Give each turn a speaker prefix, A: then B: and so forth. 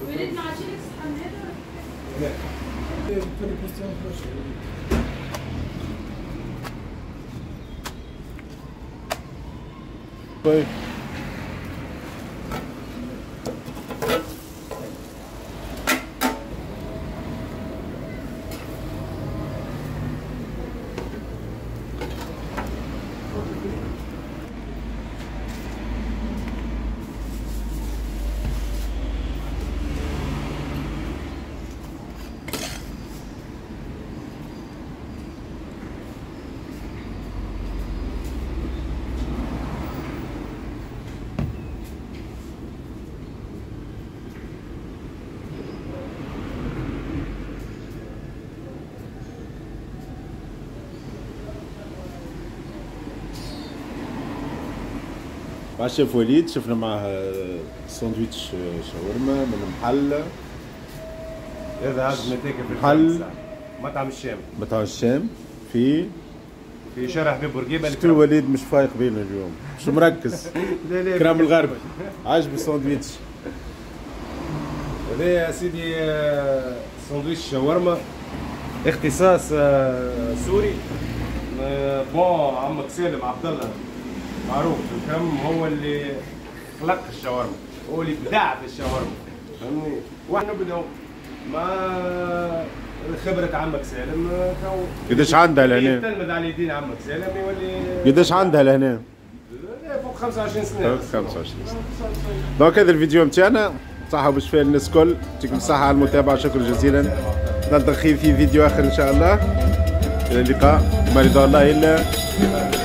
A: وليد ما عادش لك صحن هذا؟
B: لا.
C: طيب مع الشيف وليد شفنا معاه ساندويتش شاورما من محل
B: هذا عز متاكل في
C: محل
B: مطعم الشام.
C: مطعم الشام في
B: شارع حبيب بورقيبة.
C: شفتو وليد مش فايق بينا اليوم، مش مركز.
B: لا لا
C: كرام الغرب عاجبه الساندويتش
B: هذا يا سيدي. ساندويتش شاورما اختصاص سوري. bon عمك سالم عبد الله معروف في الكم، هو اللي خلق الشاورما، هو اللي بدع في الشاورما، فهمني؟ واحنا نبداو مع خبرة عمك سالم.
C: قداش عندها لهنا؟
B: يتلمذ على يدين عمك سالم يولي.
C: قداش عندها لهنا؟
B: فوق 25 سنة.
C: فوق 25 سنة. donc هذا الفيديو نتاعنا، صحة وبشفاء للناس الكل، يعطيكم الصحة على المتابعة، شكرا جزيلا. نلتقي في فيديو آخر إن شاء الله. إلى اللقاء، ما رضا الله إلا.